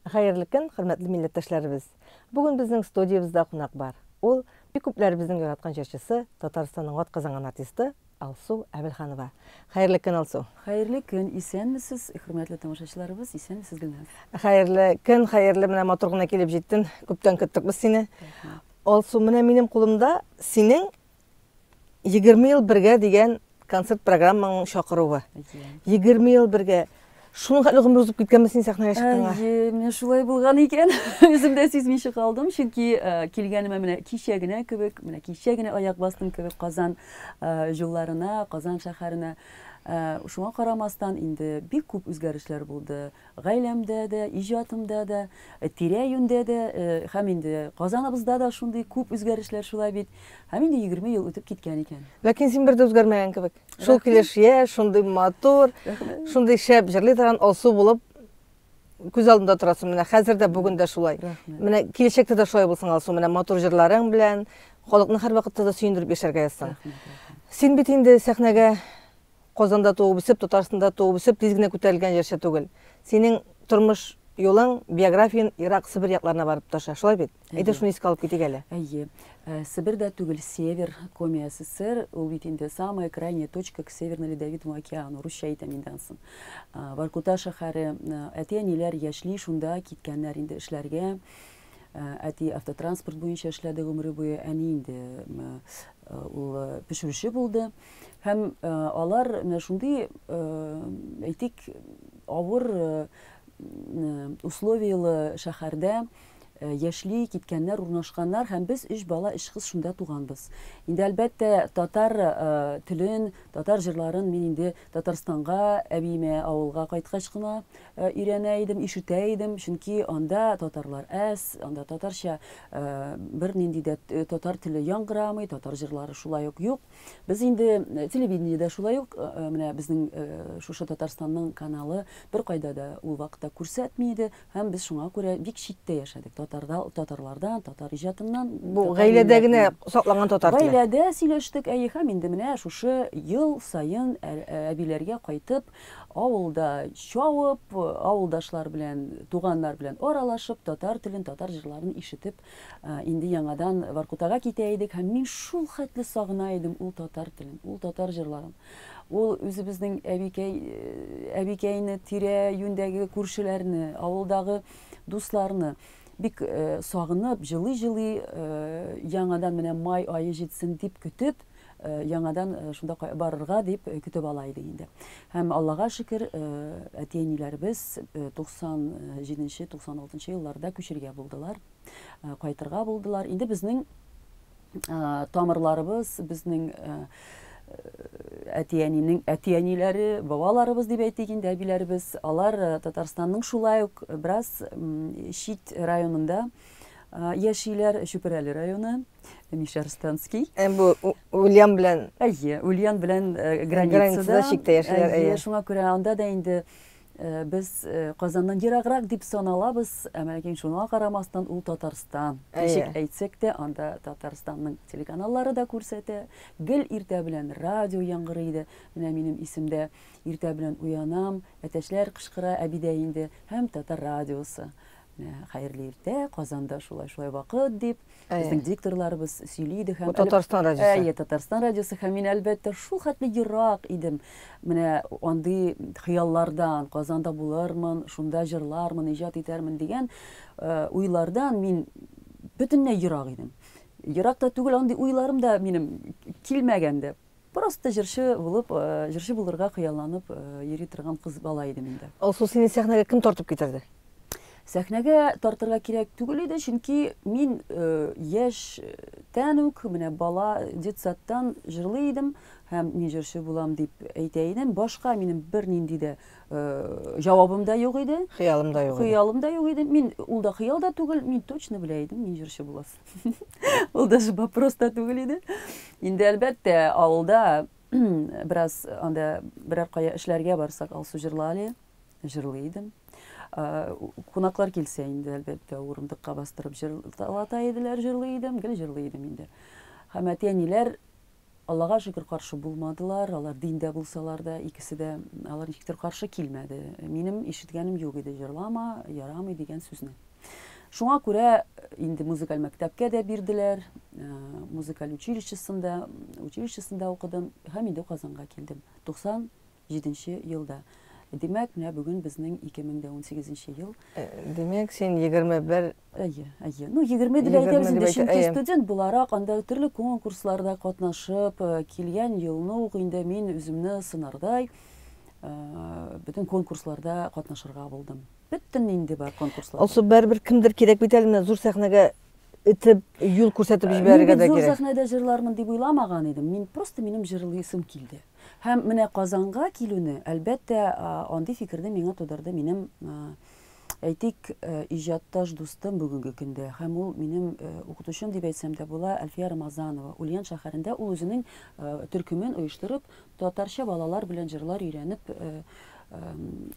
Хәерле көн, хөрмәтле милләттәшләребез! Бүген безнең студиябездә кунак бар. Ул, бик күпләребезнең яраткан җырчысы, Татарстанның атказанган артисты Алсу Әбелханова. Хәерле көн, Алсу! Хәерле көн, исәнмесез, хөрмәтле тамашачыларыбыз, исәнмесез, Гөлназ. Хәерле көн, хәерле, менә матур гына килеп җиттең. Күптән көттек без сине. Алсу, менә минем кулымда синең 20 ел бергә дигән концерт программаңның чакыруы. 20 ел бергә. Шуның хәтле гомер узып киткәнме син сәхнәгә чыкканга? Әйе, менә шулай булган икән. Үзем дә сизмичә калдым, чөнки э, килгәнемә менә кичә генә кебек, менә кичә генә аяк бастым кебек Казан э, юлларына, Казан шәһәренә. Э, шуңа карамастан инде бик күп үзгәрешләр булды. Гаиләмдә дә, иҗатымда да, тирә-юньдә дә һәм инде Казаныбызда да шундый күп үзгәрешләр шулай бит. Һәм инде 20 ел үтеп киткән икән. Ләкин син бер дә үзгәрмәгән кебек. Шул килеш яшь, шундый матур, шундый шәп җырлый торган Алсу булып күз алдында торасың. Менә хәзер дә, бүген дә шулай. Менә киләчәктә дә шулай булсын, Алсу. Менә матур җырларың белән халыкны һәрвакытта да сөендереп яшәргә язсын. Син бит инде сәхнәгә Казанда туып үсеп, Татарстанда туып үсеп, тиз генә күтәрелгән җырчы түгел. Синең тормыш юлың, биографияң ерак Себер якларына барып тоташа, шулай бит? Әйдә шуны искә алып китик әле. Әйе. Себер дә түгел, Север, Коми СССР, ул бит инде самая крайняя точка к Северно-Ледовитому океану, русча әйтәм инде ансын. Воркута шәһәре, әти-әниләр яшьли шунда киткәннәр инде эшләргә. Әти автотранспорт буенча эшләде гомере буе, әни инде ул пешерүче булды. Һәм алар менә шундый, әйтик, авыр условиялы шәһәрдә яшьли киткәннәр, урнашканнар һәм без өч бала, өч кыз шунда туганбыз. Инде әлбәттә татар телен, татар җырларын мин инде Татарстанга, әбиемә авылга кайткач кына өйрәнә идем, ишетә идем, чөнки анда татарлар әз, анда татарча бернинди дә татар теле яңгырамый, татар җырлары шулай ук юк. Без инде телевидениедә шулай ук, менә безнең шушы Татарстанның каналы беркайда да ул вакытта күрсәтми иде, һәм без шуңа күрә бик читтә яшәдек. Татарда, татарлардан, татар иҗатыннан. Бу гаиләдә генә сакланган татар теле. Гаиләдә сөйләштек, әйе, һәм инде менә шушы ел саен әбиләргә кайтып, авылда чабып, авылдашлар белән, туганнар белән аралашып, татар телен, татар җырларын ишетеп, Инде яңадан Воркутага китә идек һәм мин шул хәтле сагына идем ул татар телен, ул татар җырларын. Ул үзебезнең әбикәй, әбикәйне, тирә-юньдәге күршеләрне, авылдагы дусларны бик сагынып, җылый-җылый яңадан менә май ае җитсен дип көтеп, яңадан шунда барырга дип көтеп ала идек инде. Һәм Аллага шөкер, әти-әниләребез 97 96 елларда күчергә булдылар, кайтырга булдылар. Инде безнең тамырларыбыз, безнең әти-әнинең әти-әниләре, бабаларыбыз дип әйтик инде, әбиләребез, алар Татарстанның шулай ук бераз чит районында яшиләр, Чүпрәле районы. Мишәрстанский. Ә бу Ульян белән Әйе, Ульян белән границада. Границада чиктә яшиләр, әйе. Шуңа күрә анда да инде без Казаннан ераграк дип саналабыз, әмма ләкин шуңа карамастан ул Татарстан. Ничек әйтсәк тә, анда Татарстанның телеканаллары да күрсәтә. Гел иртә белән радио яңгырый иде. Менә минем исемдә иртә белән уянам, әтәчләр кычкыра, әби дә инде һәм татар радиосы. Менә хәерле иртә, Казанда шулай-шулай вакыт дип, безнең дикторларыбыз сөйли иде һәм Бу Татарстан радиосы. Әйе, Татарстан радиосы һәм мин әлбәттә шул хәтле ерак идем. Менә андый хыяллардан, Казанда булырмын, шунда җырлармын, иҗат итәрмен дигән уйлардан мин бөтенләй ерак идем. Ерак та түгел, андый уйларым да минем килмәгән дә. Просто җырчы булып, җырчы булырга хыялланып йөри торган кыз бала идем инде. Алсу, сине сәхнәгә кем тартып китерде? Сәхнәгә тартырга кирәк түгел иде, чөнки мин яшьтән үк, менә бала детсадтан җырлый идем һәм мин җырчы булам дип әйтә идем. Башка минем бернинди дә җавабым да юк иде. Хыялым да юк иде. Хыялым да юк иде. Мин ул да хыял да түгел, мин точно белә идем, мин җырчы буласын. Ул даже вопрос та түгел иде. Инде әлбәттә, авылда бераз анда берәр кая эшләргә барсак, Алсу җырла әле, җырлый идем. Кунаклар килсә инде, әлбәттә, урындыкка бастырып җырлата иделәр, җырлый идем, гел җырлый идем инде. Һәм әти-әниләр Аллага шөкер, каршы булмадылар. Алар диндә булсалар да, икесе дә алар ничектер каршы килмәде. Минем ишеткәнем юк иде, җырлама, ярамый дигән сүзне. Шуңа күрә инде музыкаль мәктәпкә дә бирделәр, музыкаль училищесында, училищесында укыдым һәм инде Казанга килдем. 97 нче елда. Димәк, менә бүген безнең 2018 нче ел. Димәк, син 21 Әйе, әйе. Ну, 20 дип әйтәбез инде, чөнки студент буларак анда төрле конкурсларда катнашып, килгән елны ук инде мин үземне сынардай бөтен конкурсларда катнашырга булдым. Бөтен инде бар конкурсларда. Алсу, барыбер кемдер кирәк бит әле менә зур сәхнәгә этеп, юл күрсәтеп җибәрергә дә кирәк. Мин бит зур сәхнәдә җырлармын дип уйламаган идем. Мин просто минем җырлыйсым килде. Һәм менә Казанга килүне, әлбәттә, андый фикерне миңа тудырды минем, әйтик, иҗатташ дустым бүгенге көндә. Һәм ул минем укытучым дип әйтсәм дә була, Әлфия Рамазанова. Ульян шәһәрендә ул үзенең төркемен оештырып, татарча балалар белән җырлар өйрәнеп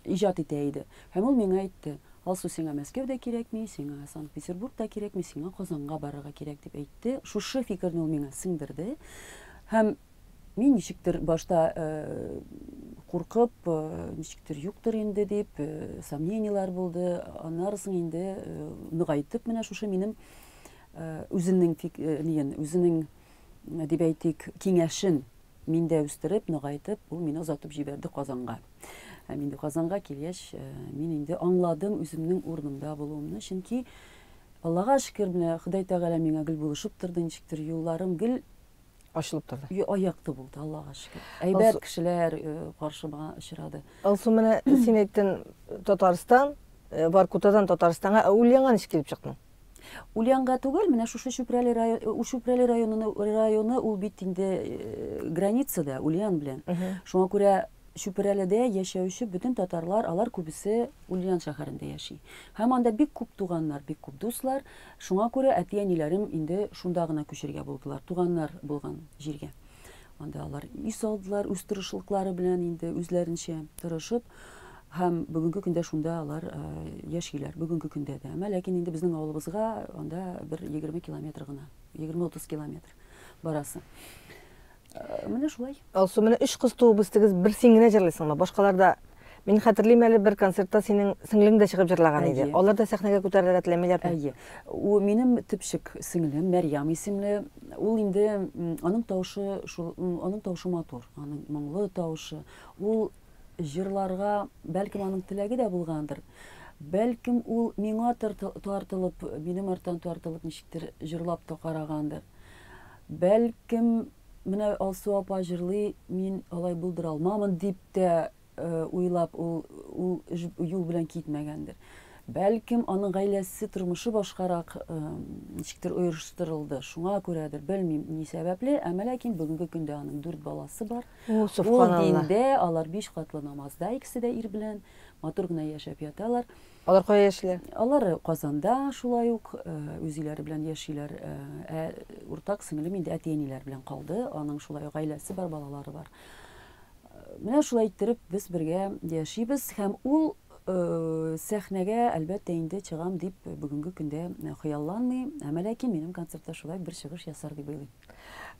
иҗат итә иде. Һәм ул миңа әйтте, Алсу, сиңа Мәскәү дә кирәкми, сиңа Санкт-Петербург та кирәкми, сиңа Казанга барырга кирәк, дип әйтте. Шушы фикерне ул миңа сеңдерде. Һәм мин ничектер башта куркып, ничектер юктыр инде дип, сомнениеләр булды. Аннары соң инде ныгайтып менә шушы минем үзенең ниен, үзенең дип әйтик, киңәшен миндә үстереп, ныгайтып, ул мине озатып җибәрде Казанга. Һәм инде Казанга килгәч, мин инде аңладым үземнең урынымда булуымны, чөнки Аллага шөкер, менә Ходай Тәгалә миңа гел булышып торды, ничектер юлларым гел ачылып торды. Аякты булды, Аллага шөкер. Әйбәт кешеләр каршыма очрады. Алсу, менә син әйттең, Татарстан, Воркутадан Татарстанга, ә Ульянга ничек килеп чыктың? Ульянга түгел, менә шушы Чүпрәле районы, Чүпрәле районы, районы ул бит инде границада Ульян белән. Шуңа күрә Чүпрәледә яшәүче бөтен татарлар, алар күбесе Ульян шәһәрендә яши. Һәм анда бик күп туганнар, бик күп дуслар. Шуңа күрә әти-әниләрем инде шунда гына күчергә булдылар, туганнар булган җиргә. Анда алар өй салдылар, үз тырышлыклары белән инде үзләренчә тырышып. Һәм бүгенге көндә шунда алар яшиләр, бүгенге көндә дә. Әмма ләкин инде безнең авылыбызга анда бер 20 километр гына, 20-30 километр барасы. Менә шулай. Алсу, менә өч кыз туып үстегез, бер син генә җырлыйсыңмы? Башкалар да Мин хәтерлим әле бер концертта синең сеңлең дә чыгып җырлаган иде. Алар да сәхнәгә күтәрелергә теләмиләрме? Әйе. Ул минем төпчек сеңлем Мәрьям исемле. Ул инде аның тавышы шул, аның тавышы матур, аның моңлы тавышы. Ул җырларга, бәлкем аның теләге дә булгандыр. Бәлкем ул миңа тартылып, минем арттан тартылып ничектер җырлап та карагандыр. Бәлкем менә Алсу апа җырлый, мин алай булдыра алмамын дип тә уйлап ул ул юл белән китмәгәндер. Бәлкем аның гаиләсе тормышы башкарак ничектер оештырылды. Шуңа күрәдер, белмим ни сәбәпле, әмма ләкин бүгенге көндә аның дүрт баласы бар. Ул диндә, алар биш катлы намазда, икесе дә ир белән матур гына яшәп яталар. Алар кая яшиләр? Алар Казанда шулай ук үз өйләре белән яшиләр. Ә уртак сеңлем инде әти-әниләр белән калды. Аның шулай ук гаиләсе бар, балалары бар. Менә шулай иттереп без бергә яшибез һәм ул сәхнәгә, әлбәттә инде, чыгам дип бүгенге көндә хыялланмый, әмма ләкин минем концертта шулай бер чыгыш ясар дип уйлыйм.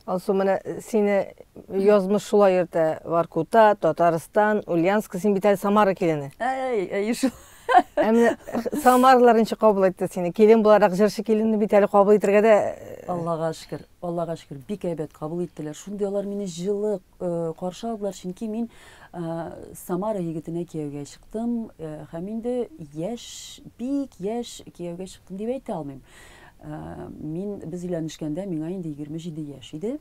Алсу, менә сине язмыш шулай йөртә. Воркута, Татарстан, Ульяновск, син бит әле Самара килене. Әй, әй шул. Ә менә Самаралар ничек кабул итте сине? Килен буларак җырчы киленне бит әле кабул итергә дә Аллага шөкер, Аллага шөкер, бик әйбәт кабул иттеләр. Шундый алар мине җылы каршы алдылар, чөнки мин Самара егетенә кияүгә чыктым һәм инде яшь, бик яшь кияүгә чыктым дип әйтә алмыйм. Мин без өйләнешкәндә миңа инде 27 яшь иде.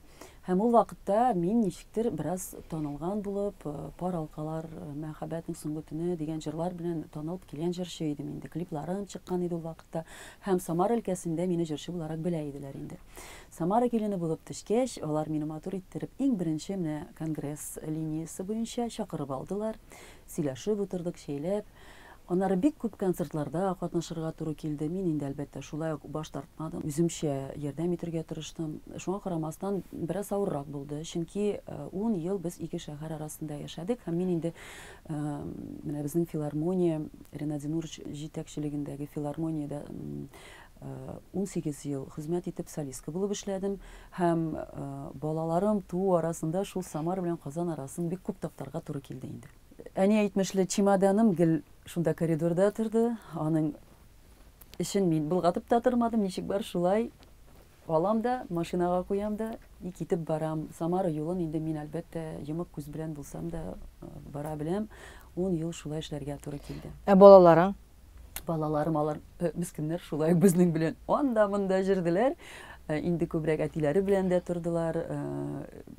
Һәм ул вакытта мин ничектер бераз танылган булып, Пар алкалар, Мәхәббәтнең соңгы төне дигән җырлар белән танылып килгән җырчы идем инде. Клипларым чыккан иде ул вакытта. Һәм Самара өлкәсендә мине җырчы буларак белә иделәр инде. Самара килене булып төшкәч, алар мине матур иттереп, иң беренче менә конгресс линиясе буенча чакырып алдылар. Сөйләшеп утырдык, чәйләп. Аннары бик күп концертларда катнашырга туры килде. Мин инде, әлбәттә, шулай ук баш тартмадым. Үземчә ярдәм итергә тырыштым. Шуңа карамастан, бераз авыррак булды. Чөнки ун ел без ике шәһәр арасында яшәдек һәм мин инде менә безнең филармония, Ренат Зинурович җитәкчелегендәге филармониядә 18 ел хезмәт итеп солистка булып эшләдем һәм балаларым туу арасында шул Самара белән Казан арасын бик күп таптарга туры килде инде. Әни әйтмешли, чемоданым гел шунда коридорда торды. Аның эшен мин болгатып та тормадым, ничек бар шулай алам да, машинага куям да и китеп барам. Самара юлын инде мин, әлбәттә, йомык күз белән булсам да бара беләм. 10 ел шулай эшләргә туры килде. Ә балаларың? Балаларым алар мескеннәр шулай ук безнең белән анда-монда җөрделәр. Инде күбрәк әтиләре белән дә тордылар.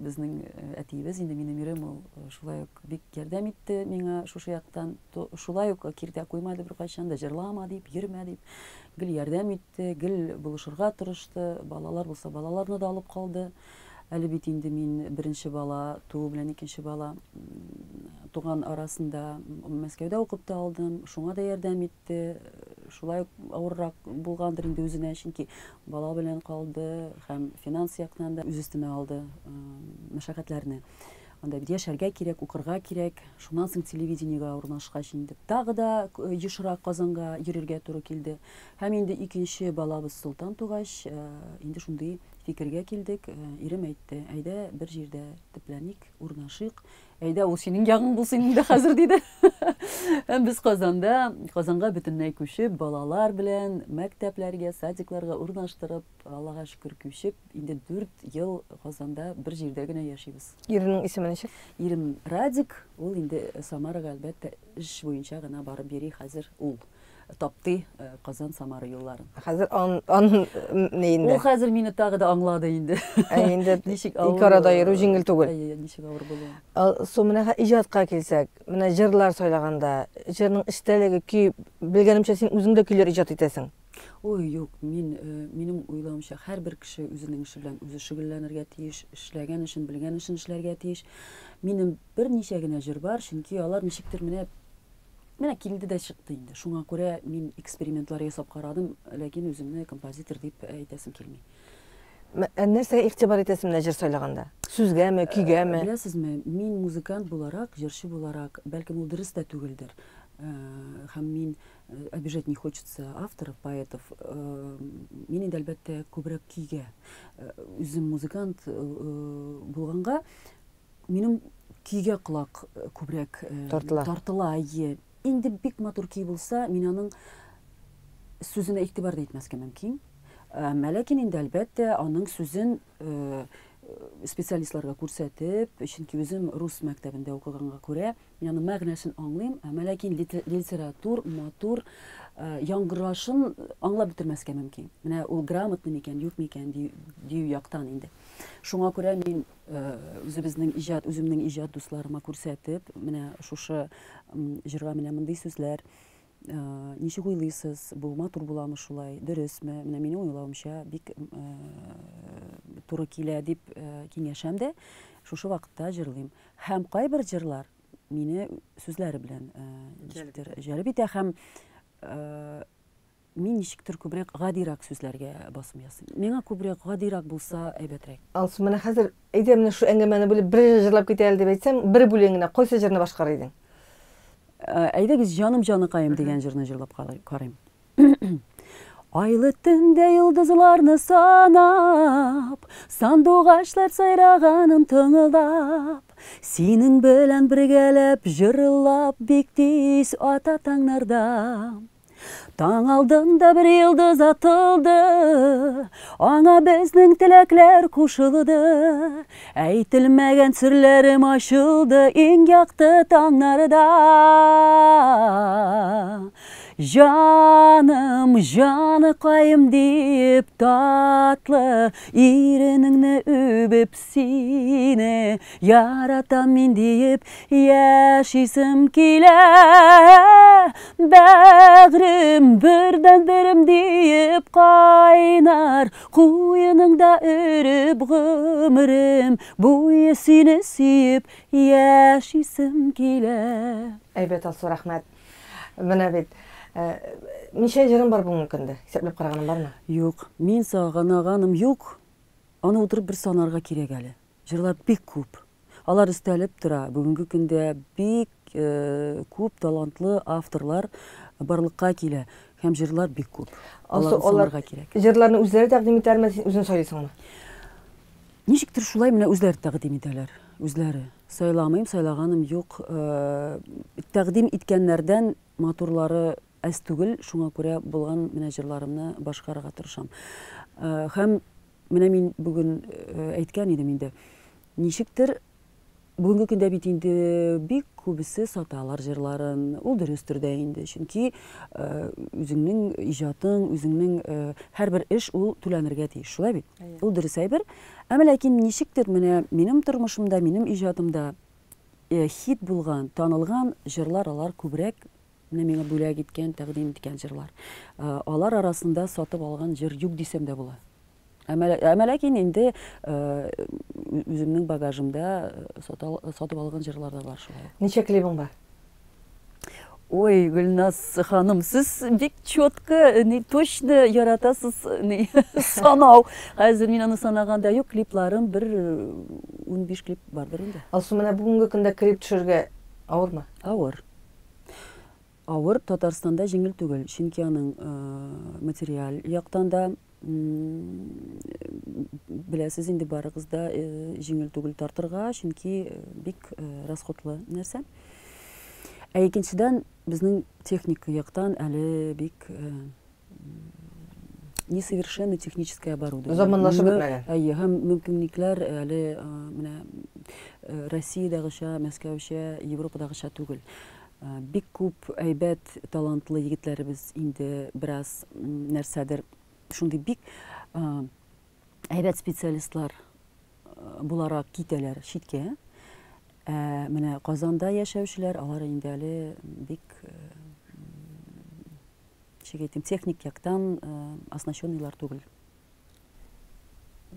Безнең әтиебез инде минем ирем ул шулай ук бик ярдәм итте миңа шушы яктан. Шулай ук киртә куймады беркайчан да, җырлама дип, йөрмә дип. Гел ярдәм итте, гел булышырга тырышты. Балалар булса, балаларны да алып калды. Әле бит инде мин беренче бала туу белән икенче бала туган арасында Мәскәүдә укып та алдым, шуңа да ярдәм итте. Шулай ук авыррак булгандыр инде үзенә, чөнки бала белән калды һәм финанс яктан да үз өстенә алды мәшәкатьләрне. Анда бит яшәргә кирәк, укырга кирәк. Шуннан соң телевидениегә урнашкач инде тагы да ешрак Казанга йөрергә туры килде. Һәм инде икенче балабыз Солтан тугач, инде шундый фикергә килдек. Ирем әйтте, әйдә бер җирдә төпләник, урнашыйк. Әйдә, ул синең ягың булсын инде хәзер, диде. Һәм без Казанда, Казанга бөтенләй күчеп, балалар белән мәктәпләргә, садикларга урнаштырып, Аллага шөкер, күчеп, инде 4 ел Казанда бер җирдә генә яшибез. Иреңнең исеме ничек? Ирем Радик, ул инде Самарага, әлбәттә, эш буенча гына барып йөри хәзер ул. Таптый Казан Самара юлларын. Хәзер ан, ан ни инде? Ул хәзер мине тагы да аңлады инде. Ә инде ничек авыр. Ике арада йөрү җиңел түгел. Әйе, ничек авыр булуын. Су менә иҗатка килсәк, менә җырлар сайлаганда, җырның эчтәлеге, көй, белгәнемчә, син үзең дә көйләр иҗат итәсең. Ой, юк, мин, минем уйлавымча, һәрбер кеше үзенең эше белән үзе шөгыльләнергә тиеш, эшләгән эшен, белгән эшен эшләргә тиеш. Минем берничә генә җыр бар, чөнки алар ничектер менә Менә килде дә чыкты инде. Шуңа күрә мин экспериментлар ясап карадым, ләкин үземне композитор дип әйтәсем килми. Ә нәрсәгә игътибар итәсең менә җыр сайлаганда? Сүзгәме, көйгәме? Беләсезме, мин музыкант буларак, җырчы буларак, бәлкем ул дөрес тә түгелдер. Һәм мин обижать не хочется авторов, поэтов. Мин инде әлбәттә күбрәк көйгә. Үзем музыкант булганга, Минем көйгә колак күбрәк тартыла. Тартыла, әйе. Инде бик матур көй булса, мин аның сүзенә игътибар да итмәскә мөмкин. Әмма ләкин инде әлбәттә аның сүзен специалистларга күрсәтеп, чөнки үзем рус мәктәбендә укыганга күрә, мин аның мәгънәсен аңлыйм, әмма ләкин литератур, матур яңгырашын аңлап бетермәскә мөмкин. Менә ул грамотный микән, юк микән дию яктан инде. Шуңа күрә мин үзебезнең иҗат, үземнең иҗат дусларыма күрсәтеп, менә шушы җырга менә мондый сүзләр, ничек уйлыйсыз, бу матур буламы шулай, дөресме? Менә минем уйлавымча бик туры килә дип киңәшәм дә, шушы вакытта җырлыйм. Һәм кайбер җырлар мине сүзләре белән ничектер җәлеп итә һәм Мин ничектер күбрәк гадирәк сүзләргә басым ясыйм. Миңа күбрәк гадирәк булса әйбәтрәк. Алсу, менә хәзер әйдә менә шу әңгәмәне бүлеп бер җыр җырлап кит әле дип әйтсәм, бер бүлеген генә кайсы җырны башкарыр идең? Әйдәгез, Җаным җаныкаем дигән җырны җырлап карыйм. Айлы төндә йолдызларны санап, Сандугачлар сайраганын тыңлап, Синең белән бергәләп җырлап бик тиз ата таңнарда. Таң алдында бер йолдыз атылды, Аңа безнең теләкләр кушылды. Әйтелмәгән серләрем ачылды Иң якты таңнарда. Җаным, җаныкаем диеп татлы Иренеңне үбеп сине Яратам мин диеп яшисем килә. Бәгърем, бердәнберем диеп кайнар Куеныңда өреп гомерем буе сине сөеп яшисем килә. Әйбәт, Алсу, рәхмәт. Менә бит, ничә җырың бар бүгенге көндә? Исәпләп караганың бармы? Юк, мин саганаганым юк. Аны утырып бер санарга кирәк әле. Җырлар бик күп. Алар өстәлеп тора. Бүгенге көндә бик күп талантлы авторлар барлыкка килә. Һәм җырлар бик күп. Аларны санарга кирәк. Җырларны үзләре тәкъдим итәләрме, син үзең сайлыйсыңмы? Ничектер шулай менә үзләре тәкъдим итәләр. Үзләре. Сайламыйм, сайлаганым юк. Тәкъдим иткәннәрдән матурлары әз түгел, шуңа күрә булган менә җырларымны башкарырга тырышам. Һәм менә мин бүген әйткән идем инде, ничектер Бүгенге көндә бит инде бик күбесе саталар җырларын. Ул дөрестер дә инде, чөнки үзеңнең иҗатың, үзеңнең һәрбер эш ул түләнергә тиеш, шулай бит? Ул дөрес әйбер. Әмма ләкин ничектер менә минем тормышымда, минем иҗатымда хит булган, танылган җырлар алар күбрәк менә миңа бүләк иткән, тәкъдим иткән җырлар. Алар арасында сатып алган җыр юк дисәм дә була. Әмма ләкин инде үземнең багажымда сатып алган җырлар да бар шулай. Ничә клибың бар? Ой, Гөлназ ханым, сез бик четко, не точно яратасыз не, санау. Хәзер мин аны санаганда юк, клипларым бер 15 клип бардыр инде. Алсу, менә бүгенге көндә клип төшерергә авырмы? Авыр. Авыр, Татарстанда җиңел түгел, чөнки аның материаль яктан да Беләсез инде барыгыз да җиңел түгел тартырга, чөнки бик расходлы нәрсә. Ә икенчедән, безнең техника яктан әле бик несовершенно техническое оборудование. Заманлашып бетмәгән. Әйе, һәм мөмкинлекләр әле менә Россиядәгечә, Мәскәүчә, Европадагыча түгел. Бик күп әйбәт, талантлы егетләребез инде бераз нәрсәдер шундый бик әйбәт специалистлар буларак китәләр читкә. Ә менә Казанда яшәүчеләр, алар инде әле бик ничек әйтим, техник яктан оснащенныйлар түгел.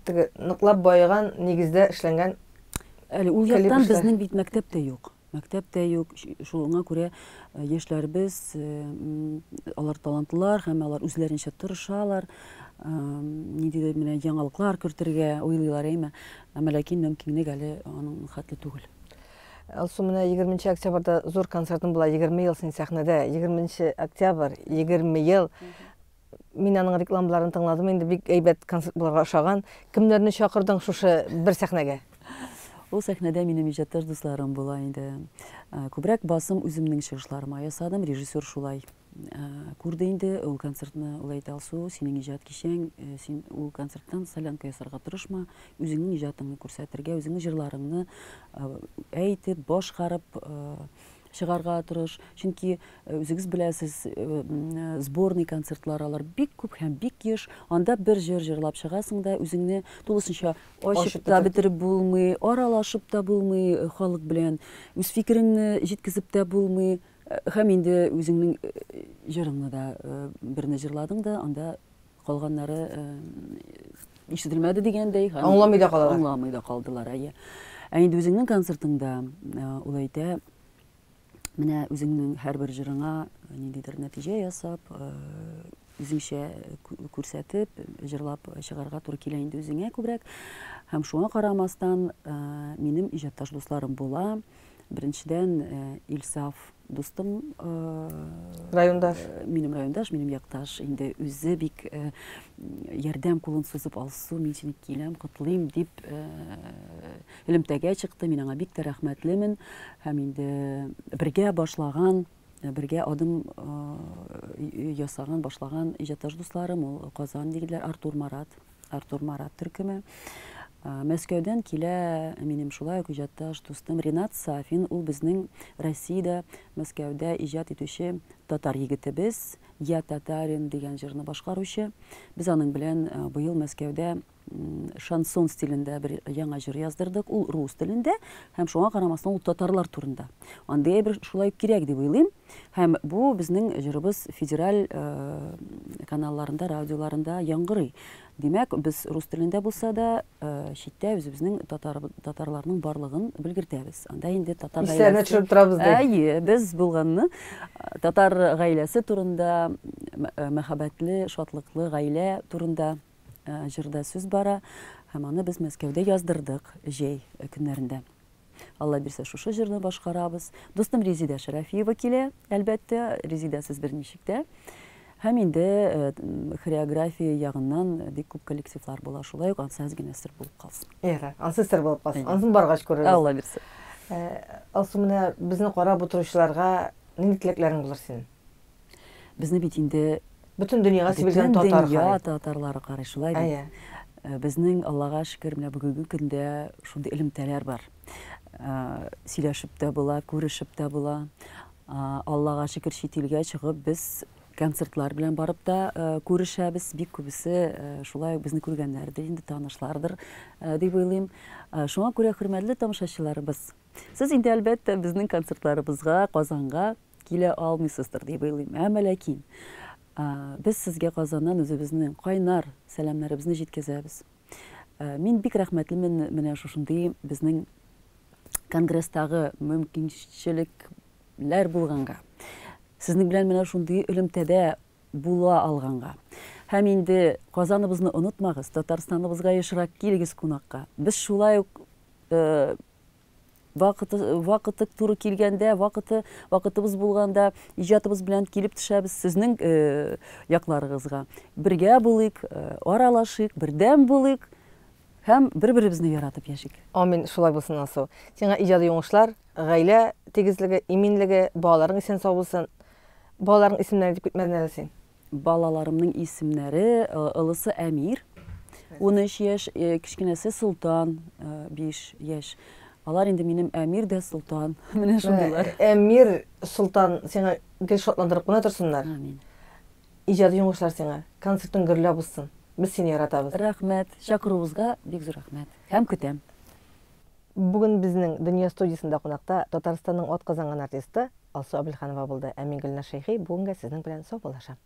Теге ныклап баеган нигездә эшләнгән Әле ул яктан безнең бит мәктәп тә юк. Мәктәп тә юк. Шуңа күрә яшьләребез, алар талантлылар һәм алар үзләренчә тырышалар. Ниндидер менә яңалыклар кертергә уйлыйлар, әйме. Әмма ләкин мөмкинлек әле аның хәтле түгел. Алсу, менә 20 октябрьдә зур концертың була, 20 ел син сәхнәдә, 20 октябрь, 20 ел. Мин аның рекламаларын тыңладым, инде бик әйбәт концерт булырга ошаган. Кемнәрне чакырдың шушы бер сәхнәгә? Ул сәхнәдә минем иҗатташ дусларым була инде. Күбрәк басым үземнең чыгышларыма ясадым, режиссер шулай күрде инде ул концертны, ул әйтә, Алсу, синең иҗат кичәң, син ул концерттан солянка ясарга тырышма, үзеңнең иҗатыңны күрсәтергә, үзеңнең җырларыңны әйтеп, башкарып чыгарга тырыш. Чөнки үзегез беләсез, сборный концертлар алар бик күп һәм бик еш. Анда бер җыр җырлап чыгасың да, үзеңне тулысынча ачып та бетереп булмый, аралашып та булмый халык белән, үз фикереңне җиткезеп тә булмый. Һәм инде үзеңнең җырыңны да берне җырладың да, анда калганнары ишетелмәде дигәндәй. Аңламый да калалар. Аңламый да калдылар, әйе. Ә инде үзеңнең концертыңда ул әйтә, менә үзеңнең һәрбер җырыңа ниндидер нәтиҗә ясап, үзеңчә күрсәтеп, җырлап чыгарга туры килә инде үзеңә күбрәк. Һәм шуңа карамастан, минем иҗатташ дусларым була. Беренчедән, Илсаф дустым, райондаш. Минем райондаш, минем якташ. Инде үзе бик ярдәм кулын сузып, Алсу, мин сине киләм, котлыйм дип элемтәгә чыкты. Мин аңа бик тә рәхмәтлемен. Һәм инде бергә башлаган, бергә адым ясаган, башлаган иҗатташ дусларым, ул Казан егетләр, Артур Марат. Артур Марат төркеме. Мәскәүдән килә минем шулай ук иҗатташ дустым Ринат Сафин. Ул безнең Россиядә, Мәскәүдә иҗат итүче татар егетебез, Я татарин дигән җырны башкаручы. Без аның белән быел Мәскәүдә шансон стилендә бер яңа җыр яздырдык. Ул рус телендә һәм шуңа карамастан ул татарлар турында. Андый әйбер шулай ук кирәк дип уйлыйм. Һәм бу безнең җырыбыз федераль каналларында, радиоларында яңгырый. Димәк, без рус телендә булса да, читтә үзебезнең татар, татарларның барлыгын белгертәбез. Анда инде татар гаиләсе. Исләренә төшереп торабыз ди. Әйе, без булганны татар гаиләсе турында, мәхәббәтле, шатлыклы гаилә турында җырда сүз бара. Һәм аны без Мәскәүдә яздырдык җәй көннәрендә. Алла бирсә, шушы җырны башкарабыз. Дустым Резида Шәрәфиева килә, әлбәттә, Резидасыз берничек тә. Һәм инде хореография ягыннан бик күп коллективлар була. Шулай ук ансы әз генә сер булып калсын. Ярар, ансы сер булып калсын. Ансын баргач күрербез. Алла бирсә. Алсу, менә безне карап утыручыларга нинди теләкләрең булыр синең? Безне бит инде бөтен дөньяга сибелгән татар карый. Бөтен дөнья татарлары карый, шулай бит. Безнең, Аллага шөкер, менә бүгенге көндә шундый элемтәләр бар. Сөйләшеп тә була, күрешеп тә була. Аллага шөкер, чит илгә чыгып, без концертлар белән барып та күрешәбез. Бик күбесе шулай ук безне күргәннәрдер инде, танышлардыр дип уйлыйм. Шуңа күрә, хөрмәтле тамашачыларыбыз, сез инде, әлбәттә, безнең концертларыбызга Казанга килә алмыйсыздыр дип уйлыйм. Әмма ләкин без сезгә Казаннан үзебезнең кайнар сәламнәребезне җиткезәбез. Мин бик рәхмәтлемен менә шушындый безнең конгресстагы мөмкинчелекләр булганга. Сезнең белән менә шундый элемтәдә була алганга. Һәм инде Казаныбызны онытмагыз, Татарстаныбызга ешрак килегез кунакка. Без шулай ук Вакыты, вакыты туры килгәндә, вакыты, вакытыбыз булганда иҗатыбыз белән килеп төшәбез сезнең э, якларыгызга. Бергә булыйк, э, аралашыйк, бердәм булыйк һәм бер-беребезне яратып яшик. Амин, шулай булсын, Алсу. Сиңа иҗади уңышлар, гаилә тигезлеге, иминлеге, балаларың исән-сау булсын. Балаларың исемнәрен әйтеп китмәдең әле син. Балаларымның исемнәре, олысы Әмир, 13 яшь, кечкенәсе Солтан, 5 яшь. Алар инде минем Әмир дә Солтан. Менә шундыйлар. Әмир, Солтан сиңа гел шатландырып кына торсыннар. Амин. Иҗади уңышлар сиңа. Концертың гөрләп узсын. Без сине яратабыз. Рәхмәт. Чакыруыгызга бик зур рәхмәт. Һәм көтәм. Бүген безнең Дөнья студиясендә кунакта Татарстанның атказанган артисты Алсу Әбелханова булды. Ә мин Гөлназ Шәйхи бүгенгә сезнең белән саубуллашам.